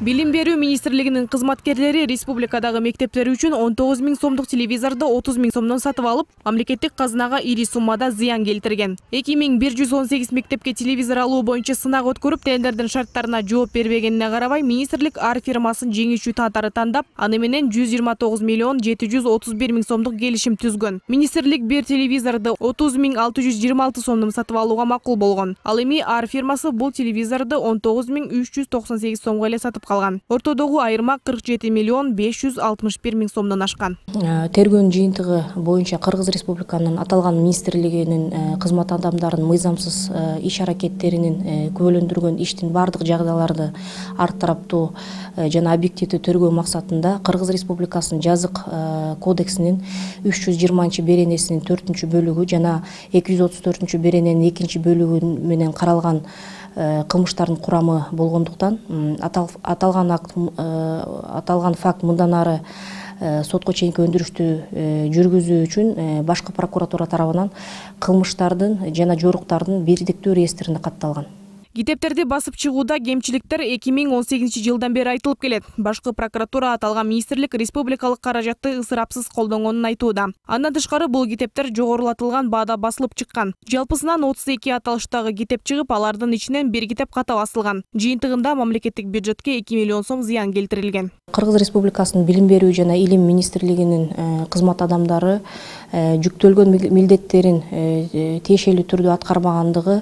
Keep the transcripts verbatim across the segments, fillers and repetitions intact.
Билим берүү министрлигинин кызматкерлери республикадагы мектептер үчүн он тогуз миң сомдук телевизорду отуз миң сомдон сатып алып, мамлекеттик казынага ири суммада зыян келтирген. эки миң бир жүз он сегиз мектепке телевизор алуу боюнча сынак өткөрүп, тендердин шарттарына жооп бербегенине карабай, министрлик ар фирмасын жеңүүчү катары тандап, аны менен жүз жыйырма тогуз миллион жети жүз отуз бир миң сомдук келишим түзгөн. Министрлик бир телевизорду отуз миң алты жүз жыйырма алты сомдон сатып алууга макул болгон. Ал эми ар фирмасы бул телевизорду он тогуз миң үч жүз токсон сегиз сомго эле сатып калган. Ортодогу айырма кырк жети миллион беш жүз алтымыш бир миң сомдон ашкан. Тергөөнүн жыйынтыгы боюнча Кыргыз Республиканын аталган министрлигинин кызмат адамдарынын мыйзамсыз иш аракеттеринин күбөлөндүргөн иштин бардык жагдайларды ар тараптуу жана объективдүү тергөө максатында Кыргыз Республикасынын жазык кодексинин үч жүз жыйырманчы беренесинин төртүнчү бөлүгү жана эки жүз отуз төртүнчү берененин экинчи бөлүгү менен каралган кылмыштардын курамы болгондуктан аталган акт аталган факт мындан ары сотко чейинки өндүрүштү жүргүзүү үчүн башкы прокуратура тарабынан кылмыштардын жана жоруктардын бирдиктүү реестрине катталган. Китептерди басып чыгууда кемчиликтер эки миң он сегизинчи жылдан бери айтылып келет. Башкы прокуратура аталган министрлик республикалык каражатты ысырапсыз колдонгонун айтууда. Андан тышкары бул китептер жогорулатылган баада басылып чыккан. Жалпысынан отуз эки аталыштагы китеп чыгып, алардын ичинен бир китеп ката басылган. Жыйынтыгында мамлекеттик бюджетке эки миллион сом зыян келтирилген. Кыргыз Республикасынын билим берүү жана илим министрлигинин кызмат адамдары жүктөлгөн милдеттерин тиешелүү түрдө аткарбагандыгы,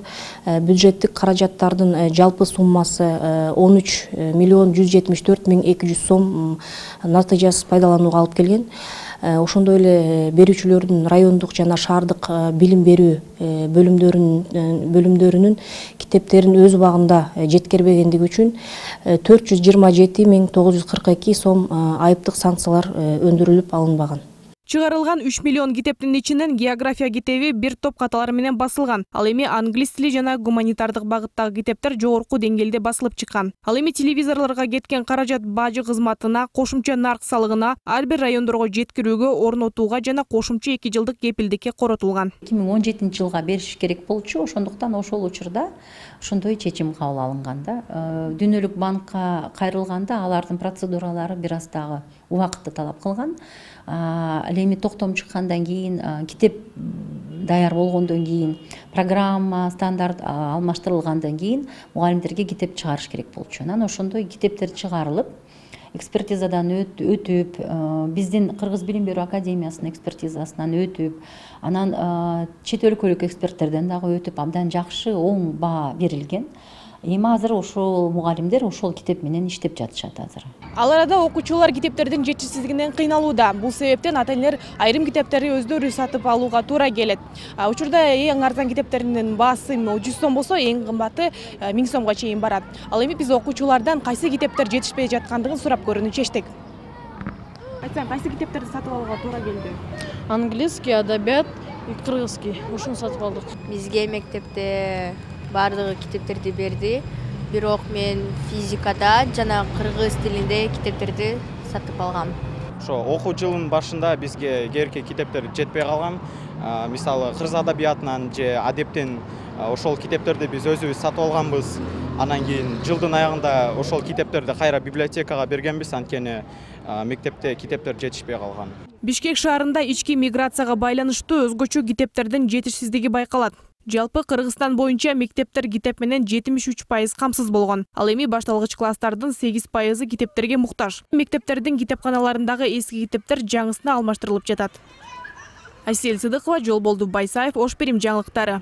бюджеттик каражаттардын жалпы суммасы он үч миллион жүз жетимиш төрт миң эки жүз сом натыйжасыз пайдаланууга алып келген. Ошондой эле берүүчүлөрдүн райондук жана шаардык билим берүү бөлүмдөрүнүн бөлүмдөрүнүн китептерин өз убагында жеткирбегендиги үчүн төрт жүз жыйырма жети миң тогуз жүз кырк эки сом айыптык санкциялар өндүрүлүп алынбаган. Чыгарылган үч миллион китептин ичинен география китеби бир топ каталар менен басылган. Ал эми англис тили жана гуманитардык багыттагы китептер жогорку деңгээлде басылып чыккан. Ал эми телевизорлорго кеткен каражат бажы кызматына, кошумча нарк салыгына, ар бир райондорго жеткирүүгө, орнотууга жана кошумча эки жылдык кепилдикке коротулган. эки миң он жетинчи жылга бериш керек болчу, ошондуктан ошол учурда ошондой чечим кабыл алынган да. Дүйнөлүк банкка кайрылганда алардын процедуралары бир аз дагы убакытты талап кылган. Ал эми токтом чыккандан кийин, китеп даяр болгондон кийин, программа стандарт алмаштырылгандан кийин мугалимдерге китеп чыгарыш керек болчу. Анан ошондой китептер чыгарылып, экспертизадан өтүп, биздин Кыргыз билим берүү академиясынын экспертизасынан өтүп, анан чет өлкөлүк эксперттерден дагы өтүп, абдан жакшы оң баа берилген. Эми азыр ошол мугалимдер ошол китеп менен иштеп жатышат азыр. Ал арада окуучулар китептердин жетишсиздигинен кыйналууда. Бул себептен ата-энелер айрым китептерди өздөрү сатып алууга туура келет. Учурда эң арзан китептердин баасы жүз сом болсо, эң кымбаты миң сомго чейин барат. Ал эми биз окуучулардан кайсы китептер жетишпей жаткандыгын сурап көрүүнү чечтик. Айтсаң, кайсы китептерди сатып алууга туура келди? Английский, адабият, кыргызский. Ушуну сатып алдык. Бизге мектепте бардыгы китептерди берди. Бирок мен физикада жана кыргыз тилинде китептерди сатып алгам. Ошо окуу жылынын башында бизге керекті китептер жетпей калган. Мисалы кыргыз адабиятынан же адептен ошол китептерди биз өзүбүз сатып алганбыз. Анан кийин жылдын аягында ошол китептерди кайра библиотекага бергенбиз, анткени мектепте китептер жетишпей калган. Бишкек шаарында ички миграцияга байланыштуу өзгөчө китептердин жетишсиздиги байкалат. Жалпы Кыргызстан боюнча мектептер китеп менен жетимиш үч пайыз камсыз болгон. Ал эми башталгыч класстардын сегиз пайызы китептерге муктаж. Мектептердин китепканаларындагы эски китептер жаңысына алмаштырылып жатат. Айсел Сыдыкова, Жолболду Байсаев, Ош Перим жаңылыктары.